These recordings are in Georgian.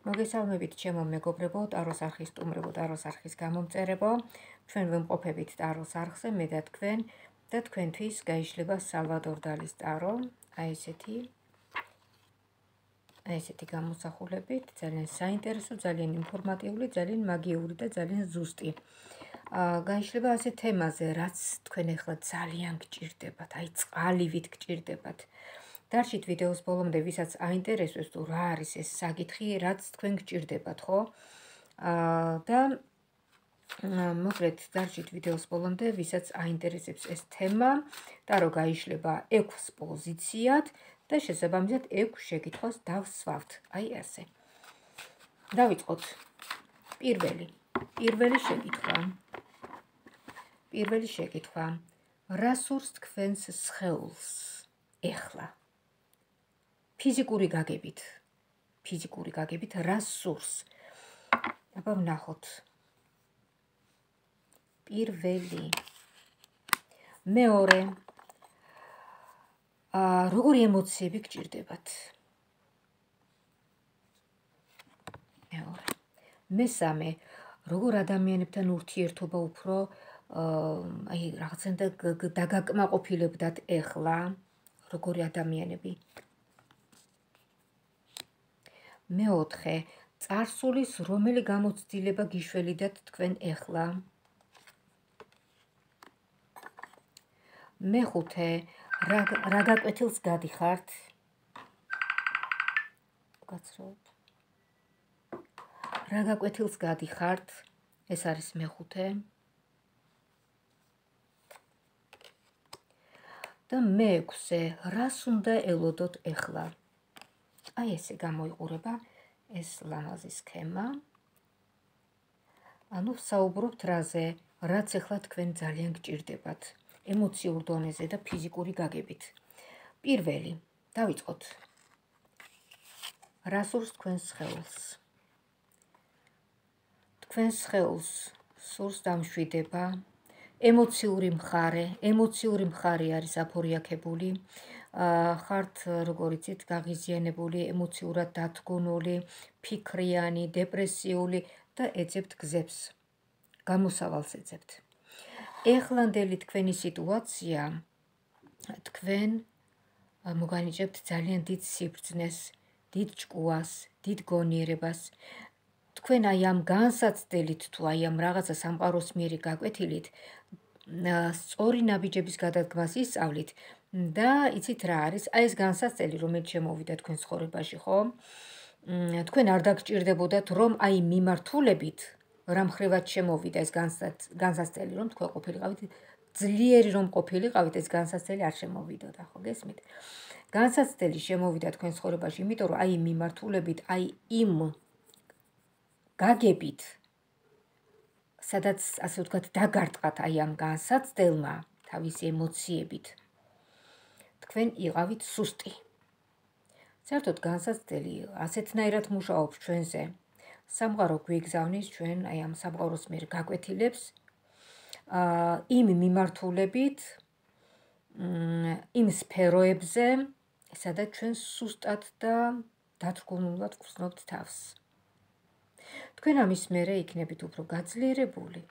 მოგესალმებით ჩემო მეგობრებო, ტაროს არხის სტუმრებო, ტაროს არხის გამომწერებო. ჩვენ ვიმყოფებით ტაროს არხზე, მე და თქვენთვის გაიშლება სალვადორ დალის ტარო. აი ესეთი გამოსახულებით, ძალიან საინტერესო, ძალიან ინფორმატიული, ძალიან მაგიური და ძალიან ზუსტი. გაიშლება ასე თემაზე, რაც თქვენ ახლა ძალიან გჭირდებათ, აი წყალივით გჭირდებათ. დარჩით ვიდეოს ბოლომდე, ვისაც აინტერესებს თუ რა არის ეს საკითხი, რაც თქვენ გჭირდებათ, ხო? და მოკლედ დარჩით ვიდეოს ბოლომდე, ვისაც აინტერესებს ეს თემა, ტარო გაიშლება 6 პოზიციად და შესაბამისად 6 შეკითხვას დავსვავთ. აი ასე. დავიწყოთ. პირველი შეკითხვა. რა სურს თქვენს სხეულს ეხლა? ფიზიკური გაგებით რა სურს? აბა ვნახოთ. პირველი. მეორე. როგორი ემოციები გჭირდებათ? მესამე. როგორ ადამიანებთან ურთიერთობა უფრო აი რაღაცნაირად დაგაკმაყოფილებდათ ეხლა? როგორი ადამიანები? მეოთხე. წარსულის რომელი გამოცდილება გიშველიდათ თქვენ ეხლა? მეხუთე. რა გაკვეთილს გადიხართ? გაცრუებთ. რა გაკვეთილს გადიხართ? ეს არის მეხუთე. და მეექვსე. რას უნდა ელოდოთ ეხლა? აი ესე გამოიყურება ეს ლამაზი სქემა. ანუ საუბრობთ რაზე, რაც ეხლა თქვენ ძალიან გჭირდებათ. ემოციურ დონეზე და ფიზიკური გაგებით. პირველი. დავიწყოთ. რა სურს თქვენს სხეულს? თქვენს სხეულს სურს დამშვიდება, ემოციური მხარე არის აფორიაქებული. ხართ, როგორ იცით, გაღიზიანებული, ემოციურად დათგუნული, ფიქრიანი, დეპრესიული და ეძებთ გზებს. გამოსავალს ეძებთ. ეხლანდელი თქვენი სიტუაცია, თქვენ მოგანიჭებთ ძალიან დიდ სიბრძნეს, დიდ ჭკუას, დიდ გონიერებას. თქვენ აი ამ განსაცდელით თუ აი ამ რაღაცა სამყაროსმიერი გაკვეთილით სწორი ნაბიჯების გადადგმას ისწავლით და იცით რა არის? აი ეს განსაცდელი, რომელიც შემოვიდა თქვენ ცხოვრებაში, ხო? თქვენ არ დაგჭირდებოდათ, რომ აი მიმართულებით რამ ხრივად შემოვიდა ეს განსაცდელი, რომ თქვენ ყოფილიყავით ძლიერი, რომ ყოფილიყავით, ეს განსაცდელი არ შემოვიდოდა, ხო გესმით? განსაცდელი შემოვიდა თქვენ ცხოვრებაში, იმიტომ რომ აი მიმართულებით, აი იმ გაგებით, სადაც ასე ვთქვათ, დაგარტყათ აი ამ განსაცდელმა თავისი ემოციებით, თქვენ იყავით სუსტი. საერთოდ განსაცდელი ასეთნაირად მუშაობს ჩვენზე. სამყარო გვიგზავნის ჩვენ აი ამ სამყაროსმიერ გაკვეთილებს იმ მიმართულებით, იმ სფეროებზე, სადაც ჩვენ სუსტად და დათრგუნულად გვხსნობთ თავს. თქვენ ამის მერე იქნებით უფრო გაძლიერებული,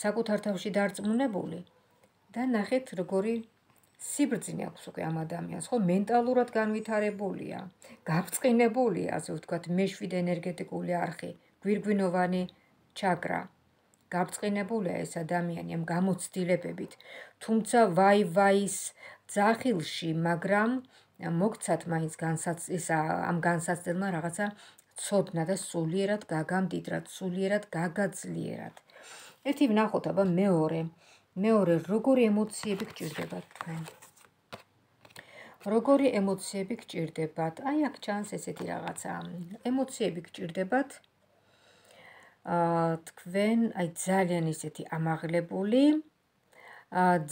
საკუთარ თავში დარწმუნებული და ნახეთ როგორი სიბრძნე აქვს უკვე ამ ადამიანს, ხო, მენტალურად განვითარებულია, გაბრწყინებულია, ასე ვთქვათ, მეშვიდე ენერგეტიკული არხი, გვირგვინოვანი ჩაკრა. გაბრწყინებულია ეს ადამიანი ამ გამოცდილებებით, თუმცა ვაი-ვაის ძახილში, მაგრამ მოგცათ მაინც ამ განსაცდელმა რაღაცა ცოდნა და სულიერად გაგამდიდრათ, სულიერად გაგაძლიერათ. ერთი ვნახოთ, აბა მეორე, როგორი ემოციები გჭირდებათ თქვენ? როგორი ემოციები გჭირდებათ? აი აქ ჩანს ესეთი რაღაცა. ემოციები გჭირდებათ თქვენ აი ძალიან ისეთი ამაღლებული,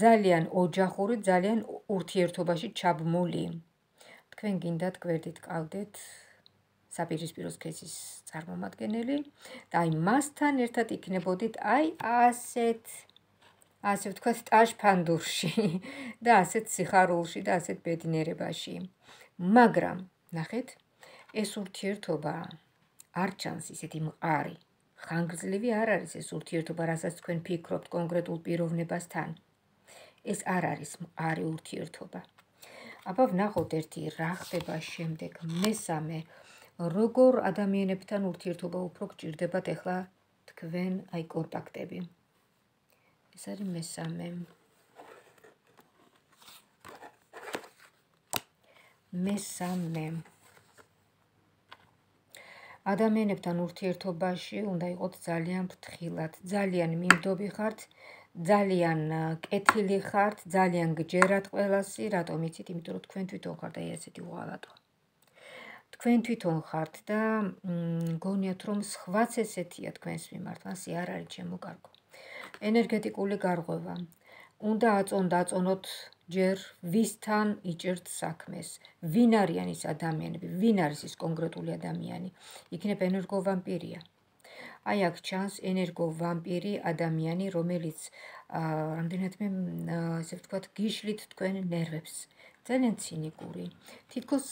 ძალიან ოჯახური, ძალიან ურთიერთობაში ჩაბმული. თქვენ გინდათ გვერდით ყავდეთ საპირისპირო სქესის წარმომადგენელი და აი მასთან ერთად იქნებოდით აი ასე ვთქვათ, ტაშფანდურში და ასეთ სიხარულში და ასეთ ბედნიერებაში. მაგრამ, ნახეთ, ეს ურთიერთობა არ ჩანს ისეთი მყარი. ხანგრძლივი არ არის ეს ურთიერთობა, რასაც თქვენ ფიქრობთ კონკრეტულ პიროვნებასთან. ეს არ არის მყარი ურთიერთობა. აბა ვნახოთ ერთი რა ხდება შემდეგ. მესამე, როგორ ადამიანებთან ურთიერთობა უფრო გჭირდებათ ახლა თქვენ კონტაქტები. ეს არის მესამე. ადამიანებთან ურთიერთობაში უნდა იყოთ ძალიან ფრთხილად, ძალიან მიმდობი ხართ, ძალიან კეთილი ხართ, ძალიან გჯერათ ყველასი, რატომ იცით? იმიტომ რომ თქვენ თვითონ ხართ ესეთი უღალატო. თქვენ თვითონ ხართ და გონიათ რომ სხვაც ესეთია თქვენს მიმართ, მასე არ არის ჩემო კარგო. ენერგეტიკული გარღვევა. უნდა აწონოთ ჯერ ვისთან იჭერთ საქმეს, ვინ არიან ის ადამიანები, ვინ არის ის კონკრეტული ადამიანი, იქნებ ენერგოვამპირია. აი აქ ჩანს ენერგოვამპირი ადამიანი, რომელიც რამდენადმე ესე ვთქვათ, გიშლით თქვენ ნერვებს. ძალიან ცინიკური. თითქოს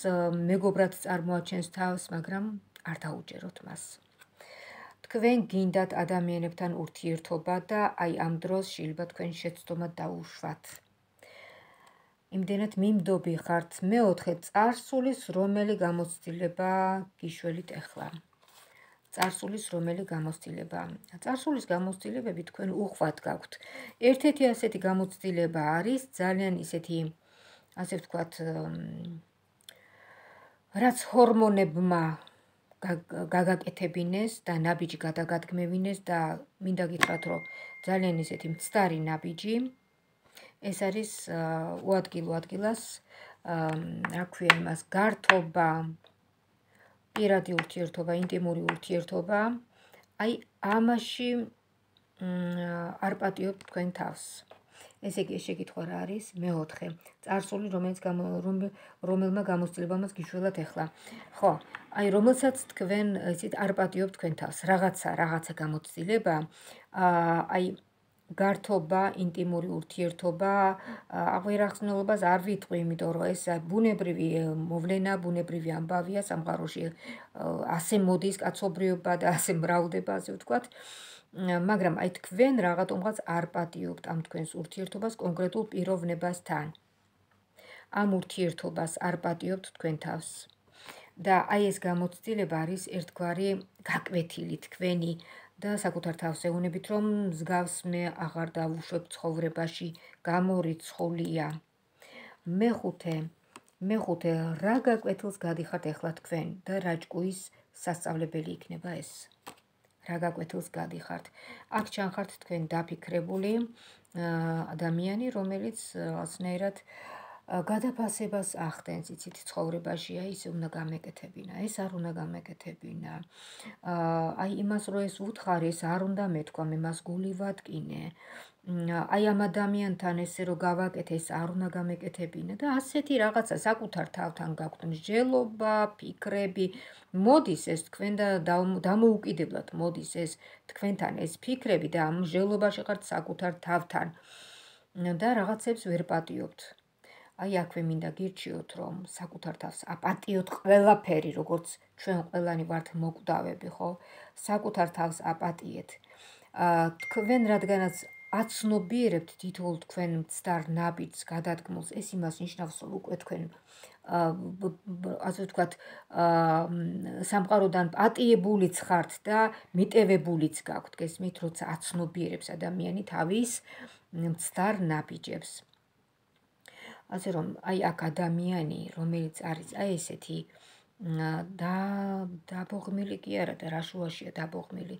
მეგობრად წარმოაჩენს თავს, მაგრამ არ დაუჯეროთ მას. თქვენ გინდათ ადამიანებთან ურთიერთობა და აი ამ დროს შეიძლება თქვენ შეცდომა დაუშვათ. იმდენად მიმდობი ხართ. მეოთხე, წარსულის რომელი გამოცდილება გიშველით ახლა. წარსულის რომელი გამოცდილება. წარსულის გამოცდილებები თქვენ უხვად გაქვთ. ერთ-ერთი ასეთი გამოცდილება არის ძალიან ისეთი, ასე ვთქვათ, რაც ჰორმონებმა გაგაკეთებინეს და ნაბიჯი გადაგადგმევინეს და მინდა გითხრათ, რომ ძალიან ისეთი მცდარი ნაბიჯი. ეს არის უადგილო ადგილას, რა ქვია იმას, გართობა, პირადი ურთიერთობა, ინტიმური ურთიერთობა. აი ამაში არ პატიობთ თქვენ თავს. ესე იგი, შეკითხვა რა არის? მეოთხე, წარსული, რომელმა გამოცდილებამ გიშველათ ახლა. ხო, აი რომელსაც თქვენ იცით არ პატიობთ თქვენ თავს. რაღაცა გამოცდილება, აი გართობა, ინტიმური ურთიერთობა, აღიარაღწნულობას არ ვიტყვი, იმიტომ რომ ეს ბუნებრივი მოვლენა, ბუნებრივი ამბავია სამყაროში, ასე მოდის კაცობრიობა და ასე მრავლდება, ასე ვთქვათ. მაგრამ აი თქვენ რაღაცომღაც არ პატიობთ ამ თქვენს ურთიერთობას კონკრეტულ პიროვნებასთან. ამ ურთიერთობას არ პატიობთ თქვენ თავს. და აი ეს გამოცდილება არის ერთგვარი გაკვეთილი თქვენი და საკუთარ თავს ეუბნებით, რომ მსგავს მე აღარ დავუშვებ ცხოვრებაში, გამორიცხულია. მეხუთე, რა გაკვეთილს გადიხართ ახლა თქვენ და რა ჭკუის სასწავლებელი იქნება ეს? რა გაკვეთილს გადიხართ? აქ ჩანხართ თქვენ დაფიქრებული ადამიანი, რომელიც რაღაცნაირად გადაფასებას ახდენს, იცით, ცხოვრებაში, აი ეს უნდა გამეკეთებინა, ეს არ უნდა გამეკეთებინა. აი იმას რო ეს უთხარი, ეს არ უნდა მეთქვა, მე მას გული ვატკინე. აი ამ ადამიანთან ესე რო გავაკეთე, ეს არ უნდა გამეკეთებინა და ასეთი რაღაცა საკუთარ თავთან გაქვთ მსჯელობა, ფიქრები. მოდის ეს თქვენ და დამოუკიდებლად მოდის ეს თქვენთან ეს ფიქრები და ამ მსჯელობაში ხართ საკუთარ თავთან და რაღაცებს ვერ პატიობთ. აი აქვე მინდა გირჩიოთ, რომ საკუთარ თავს აპატიოთ ყველაფერი, როგორც ჩვენ ყველანი ვართ მოკვდავები, ხო? საკუთარ თავს აპატიეთ. თქვენ რადგანაც აცნობიერებთ თითოეულ თქვენ მცდარ ნაბიჯს, გადადგმულს, ეს იმას ნიშნავს, რომ უკვე თქვენ ასე ვთქვათ, სამყაროდან პატიებულიც ხართ და მიტევებულიც გაქვთ, გესმით, როცა აცნობიერებს ადამიანი თავის მცდარ ნაბიჯებს. ასე რომ, აი აქ ადამიანი, რომელიც არის აი ესეთი დაბოღმილი კი არა და რა შუაშია დაბოღმილი,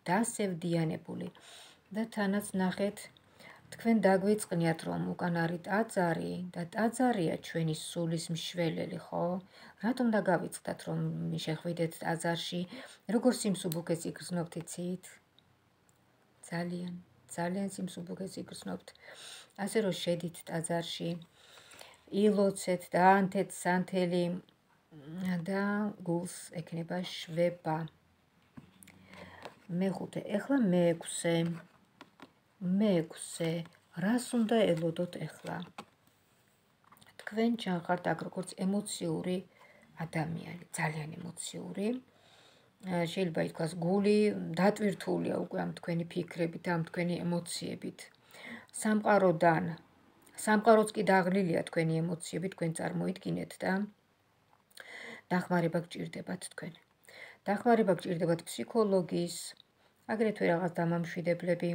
დასევდიანებული და თანაც ნახეთ, თქვენ დაგვიწყნიათ, რომ უკან არის ტაძარი და ტაძარია ჩვენი სულის მშველელი, ხო? რატომ დაგავიწყდათ, რომ შეხვიდეთ ტაძარში? როგორ სიმსუბუქეს იგრძნობთ, იცით? ძალიან სიმსუბუქეს იგრძნობთ. ასე რომ შედით ტაძარში, ილოცეთ და ანთეთ სანთელი და გულს ექნება შვება. მეხუთე, ეხლა მეექვსე, რას უნდა ელოდოთ ეხლა? თქვენ ჩანხართ აქ როგორც ემოციური ადამიანი, ძალიან ემოციური. შეიძლება ითქვას, გული დატვირთულია უკვე ამ თქვენი ფიქრებით, ამ თქვენი ემოციებით. სამყაროც კი დაღლილია თქვენი ემოციებით, თქვენ წარმოიდგინეთ და დახმარება გჭირდებათ თქვენ. დახმარება გჭირდებათ ფსიქოლოგის, აგრეთვე რაღაც დამამშვიდებლები,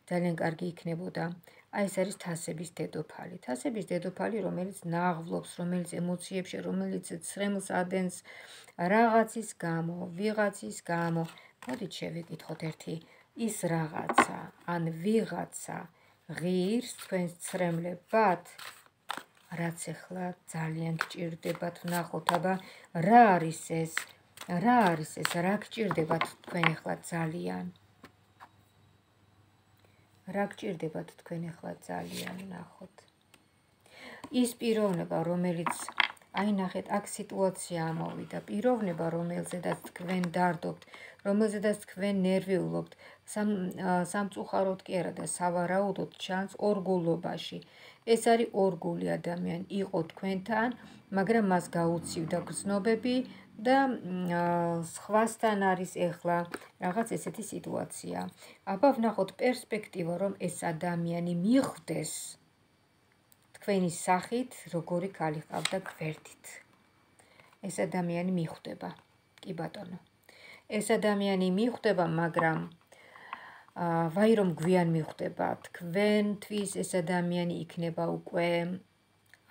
ძალიან კარგი იქნებოდა. აი ეს არის თასების დედოფალი. თასების დედოფალი, რომელიც ნაღვლობს, რომელიც ემოციებში, რომელიც ცრემლს ადენს რაღაცის გამო, ვიღაცის გამო. მოდით შევიკითხოთ ერთი ის რაღაცა, ან ვიღაცა ღირს თქვენს ცრემლებად, რაც ახლა ძალიან გჭირდებათ, ვნახოთ, აბა რა არის ეს, რა გჭირდებათ თქვენ ახლა ძალიან. რა გჭირდებათ თქვენ ახლა ძალიან, ვნახოთ. ის პიროვნება, რომელიც აი ნახეთ, აქ სიტუაცია ამოვიდა, პიროვნება, რომელზედაც თქვენ დარდობთ, რომელზედაც თქვენ ნერვიულობთ, სამწუხაროდ კი არა და სავარაუდოდ ჩანს ორგულობაში. ეს არის ორგული ადამიანი, იყო თქვენთან, მაგრამ მას გაუცივდა გრძნობები და სხვასთან არის ახლა რაღაც ესეთი სიტუაცია. აბა ვნახოთ პერსპექტივა, რომ ეს ადამიანი მიხვდეს თქვენი სახით, როგორი ქალი ყავდა გვერდით. ეს ადამიანი მიხვდება, კი ბატონო. ეს ადამიანი მიხვდება, მაგრამ ვაი რომ გვიან მიხვდება, თქვენთვის ეს ადამიანი იქნება უკვე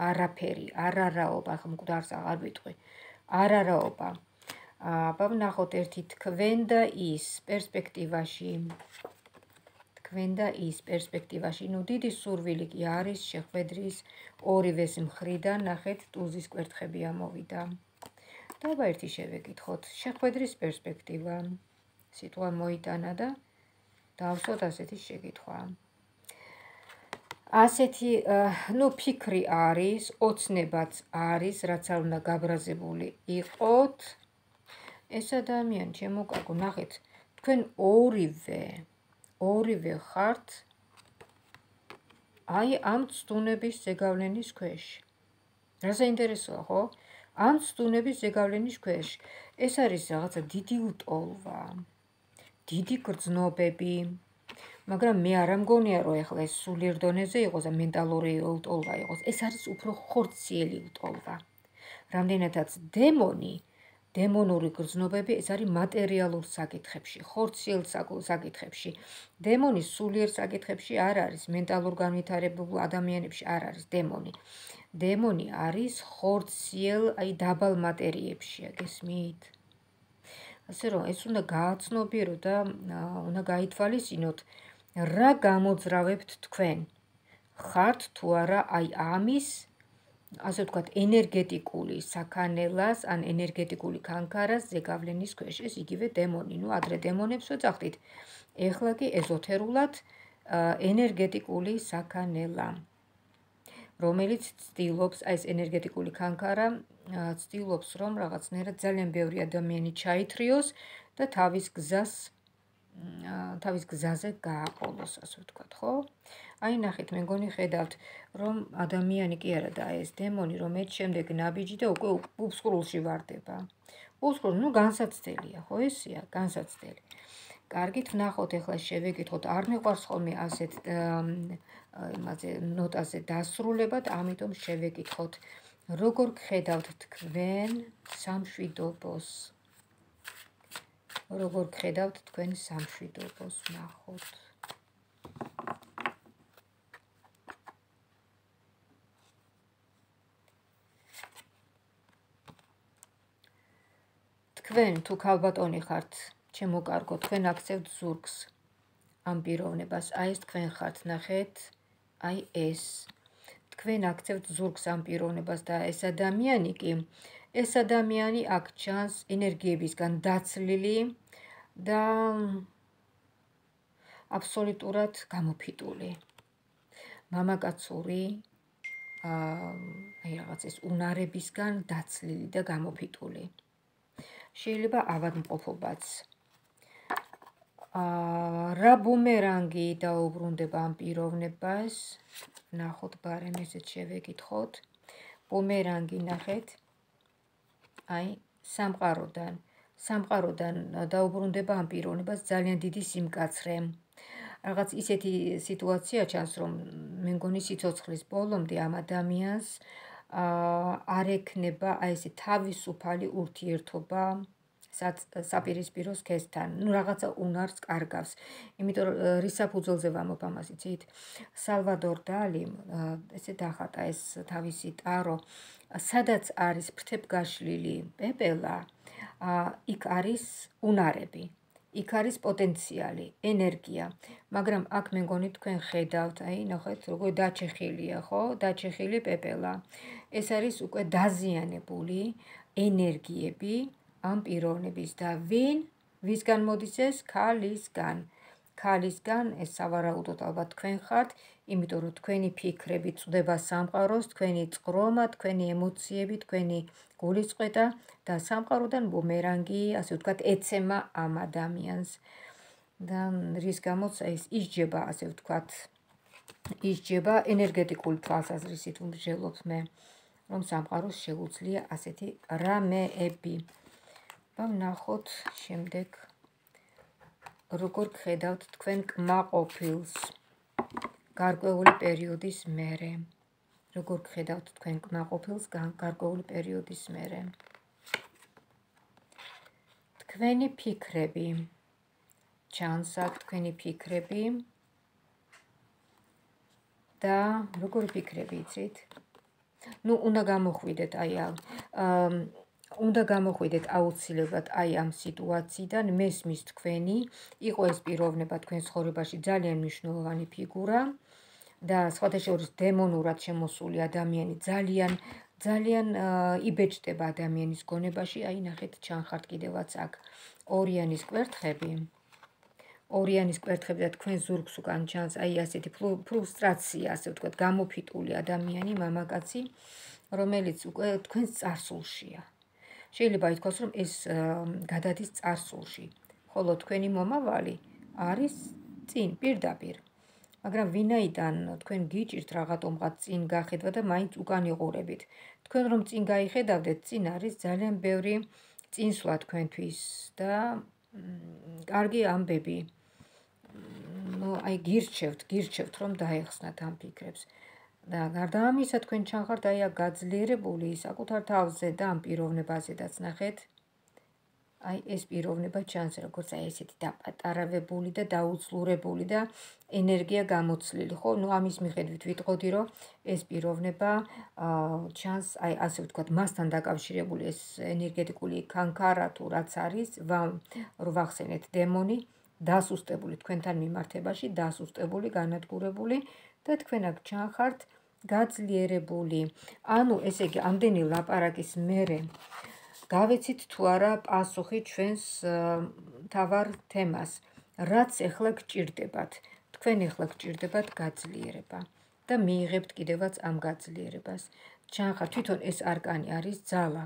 არაფერი, არარაობა, ხომ მკვდარს აღარ ვიტყვი, არარაობა. აბა ვნახოთ ერთი თქვენ და ის პერსპექტივაში, ნუ დიდი სურვილი კი არის შეხვედრის ორივეს მხრიდან, ნახეთ, ტუზის კვერთხები ამოვიდა. და ერთი შევეკითხოთ, შეხვედრის პერსპექტივა, სიტყვა მოიტანა და დავსვათ ასეთი შეკითხვა. ასეთი, ნუ ფიქრი არის, ოცნებაც არის, რაც არ უნდა გაბრაზებული იყოთ. ეს ადამიანი, ჩემო კაკო, ნახეთ, თქვენ ორივე ხართ აი ამ ცდუნების ზეგავლენის ქვეშ. რა საინტერესოა, ხო? ამ ცდუნების ზეგავლენის ქვეშ. ეს არის რაღაცა დიდი უტოლვა, დიდი გრძნობები, მაგრამ მე არ მგონია, რომ ეხლა ეს სულიერ დონეზე იყოს და მენტალური უტოლვა იყოს. ეს არის უფრო ხორციელი უტოლვა. რამდენადაც დემონური გრძნობები, ეს არის მატერიალურ საკითხებში, ხორციელ საკითხებში. დემონი სულიერ საკითხებში არ არის, მენტალურ განვითარებულ ადამიანებში არ არის დემონი. დემონი არის ხორციელ, აი დაბალ მატერიებში, გესმით? ასე რომ ეს უნდა გააცნობირო და უნდა გაითვალისწინოთ, რა გამოძრავებთ თქვენ. ხართ თუ არა აი ამის, ასე ვთქვათ, ენერგეტიკული საქანელას ან ენერგეტიკული ქანქარას ზეგავლენის ქვეშ. ეს იგივე დემონი, ნუ ადრე დემონებს ვეძახდით, ეხლა კი ეზოთერულად ენერგეტიკული საქანელა, რომელიც ცდილობს, აი ეს ენერგეტიკული ქანქარა ცდილობს, რომ რაღაცნაირად ძალიან ბევრი ადამიანი ჩაითრიოს და თავის გზაზე გააყოლოს, ასე ვთქვათ, ხო? აი ნახეთ, მე მგონი ხედავთ, რომ ადამიანი კი არა და ეს დემონი, რომ ერთ შემდეგ ნაბიჯი და უკვე უფსკრულში ვარდება. უფსკრული, ნუ განსაცდელია, ხო ესეა, განსაცდელი. კარგით, ვნახოთ, ახლა შევეკითხოთ, არ მიყვარს ხოლმე ასეთ ნოტაზე დასრულება და ამიტომ შევეკითხოთ, როგორ გხედავთ თქვენ სამშვიდობოს? როგორ გხედავთ თქვენ სამშვიდობოს, ვნახოთ. თქვენ თუ ქალბატონი ხართ, ჩემო კარგო, თქვენ აქცევთ ზურგს ამ პიროვნებას, აი ეს თქვენ ხართ, ნახეთ, აი ეს. თქვენ აქცევთ ზურგს ამ პიროვნებას და ეს ადამიანი აქ ჩანს ენერგიებისგან დაცლილი და აბსოლუტურად გამოფიტული. მამაკაცური, აი რაღაც ეს უნარებისგან დაცლილი და გამოფიტული. შეიძლება ავადმყოფობაც. რა ბუმერანგი დაუბრუნდება ამ პიროვნებას? ნახოთ, ბარემ ესეც შევეკითხოთ. ბუმერანგი, ნახეთ. აი სამყაროდან დაუბრუნდება ამ პიროვნებას ძალიან დიდი სიმკაცრე. რაღაც ისეთი სიტუაცია ჩანს, რომ მე მგონი სიცოცხლის ბოლომდე ამ ადამიანს არ ექნება აი ესე თავისუფალი ურთიერთობა საპირისპირო სქესთან. ნუ რაღაცა უნარს კარგავს. იმიტომ რომ რის საფუძველზე ვამბობ ამას იცით? სალვადორ დალიმ ესე დახატა ეს თავისი ტარო, სადაც არის ფრთებგაშლილი პეპელა, იქ არის უნარები. იქ არის პოტენციალი, ენერგია, მაგრამ აქ მე მგონი თქვენ ხედავთ, აი ნახეთ როგორ დაჩეხილია, ხო? დაჩეხილი პეპელა. ეს არის უკვე დაზიანებული ენერგიები ამ პიროვნების და ვისგან მოდის ეს? ქალისგან, ეს სავარაუდოდ ალბათ თქვენ ხართ, იმიტომ რომ თქვენი ფიქრები წვდება სამყაროს, თქვენი წყრომა, თქვენი ემოციები, თქვენი გულისწყეთა და სამყაროდან ბუმერანგი, ასე ვთქვათ, ეცემა ამ ადამიანს. და რის გამოც ეს ისჯება, ასე ვთქვათ, ისჯება ენერგეტიკული თვალსაზრისით ვმსჯელობ მე, რომ სამყაროს შეუძლია ასეთი რამეები. ვნახოთ შემდეგ როგორ გხედავთ თქვენ კმაყოფილს გარკვეული პერიოდის მერე. როგორ გხედავთ თქვენ კმაყოფილს გარკვეული პერიოდის მერე. თქვენი ფიქრები, ჩანს აქ თქვენი ფიქრები და როგორ ფიქრები იცით? ნუ უნდა გამოხვიდეთ უნდა გამოხვიდეთ აუცილებლად აი ამ სიტუაციიდან, მესმის თქვენი, იყო ეს პიროვნება თქვენ ცხოვრებაში ძალიან მნიშვნელოვანი ფიგურა და სხვათა შორის დემონურად შემოსული ადამიანი ძალიან იბეჭდება ადამიანის გონებაში, აი ნახეთ ჩანხართ კიდევაც აქ ორიანის კვერთხები. ორიანის კვერთხები და თქვენ ზურგს უკან ჩანს აი ასეთი ფრუსტრაცია, ასე ვთქვათ, გამოფიტული ადამიანი, მამაკაცი, რომელიც უკვე თქვენს წარსულშია. შეიძლება ითქვას, რომ ეს გადადის წარსულში, ხოლო თქვენი მომავალი არის წინ, პირდაპირ. მაგრამ ვინაიდან თქვენ გიჭირთ რაღაცომღაც წინ გახედვა და მაინც უკან იყურებით. თქვენ რომ წინ გაიხედავდეთ, წინ არის ძალიან ბევრი წინსვლა თქვენთვის და კარგი ამბები. ნუ აი გირჩევთ რომ დაეხსნათ ამ ფიქრებს. და გარდა ამისა თქვენ ჩანხართ აი გაძლიერებული საკუთარ თავზე და ამ პიროვნებაზედაც ნახეთ. აი ეს პიროვნება ჩანს როგორც აი ესეთი დაპატარავებული და დაუძლურებული და ენერგია გამოცლილი, ხო? ნუ ამის მიხედვით ვიტყოდი, რომ ეს პიროვნება ჩანს აი ასე ვთქვათ, მასთან დაკავშირებული ეს ენერგეტიკული კანკარა თუ რაც არის, რო ვახსენეთ დემონი, დასუსტებული თქვენთან მიმართებაში, დასუსტებული, განადგურებული და თქვენ აქ ჩანხართ გაძლიერებული. ანუ ესე იგი ამდენი ლაპარაკის მერე გავეცით თუ არა პასუხი ჩვენს მთავარ თემას, რაც ეხლა გჭირდებათ. თქვენ ეხლა გჭირდებათ გაძლიერება და მიიღებთ კიდევაც ამ გაძლიერებას. ჩანხართ თვითონ ეს არკანი არის ძალა.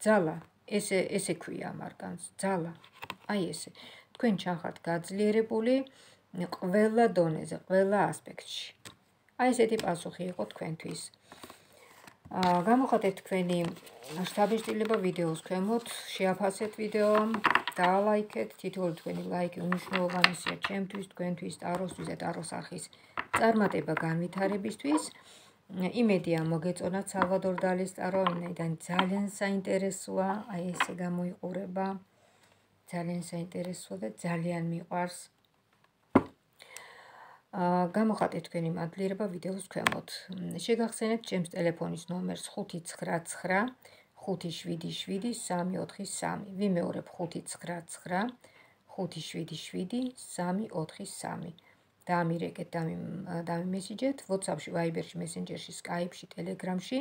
ძალა, ესე ქვია ამ არკანს, ძალა. აი ესე. თქვენ ჩანხართ გაძლიერებული ყველა დონეზე, ყველა ასპექტში. აი ესეთი პასუხი იყო თქვენთვის. გამოხატეთ თქვენი შთაბეჭდილება ვიდეოს ქვემოთ, შეაფასეთ ვიდეო, დაალაიქეთ, თითოეული თქვენი ლაიქი უმნიშვნელოვანესია ჩემთვის, თქვენთვის, ტაროსთვის და ტაროს არხის წარმატება განვითარებისთვის. იმედია მოგეწონათ სალვადორ დალის ტარო, ვინაიდან ძალიან საინტერესოა, აი ესე გამოიყურება. ძალიან საინტერესოა და ძალიან მიყვარს. გამოხატეთ თქვენი მადლიერება ვიდეოს ქვემოთ. შეგახსენებთ ჩემს ტელეფონის ნომერს 599 577 343. ვიმეორებ 599 577 343. დაამირეკეთ, დამიმესიჯეთ WhatsApp-ში, Viber-ში, Messenger-ში, Skype-ში, Telegram-ში.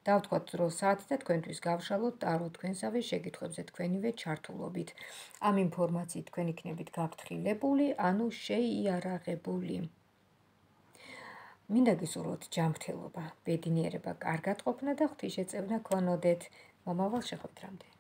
დავთქვათ დრო საათი და თქვენთვის გავშალოთ ტარო თქვენსავე შეკითხვებზე თქვენივე ჩართულობით. ამ ინფორმაციით თქვენ იქნებით გაფრთხილებული, ანუ შეიარაღებული. მინდა გისურვოთ ჯანმრთელობა, ბედნიერება, კარგად ყოფნა და ღვთისმშეწევნა გქონოდეთ. მომავალ შეხვედრამდე.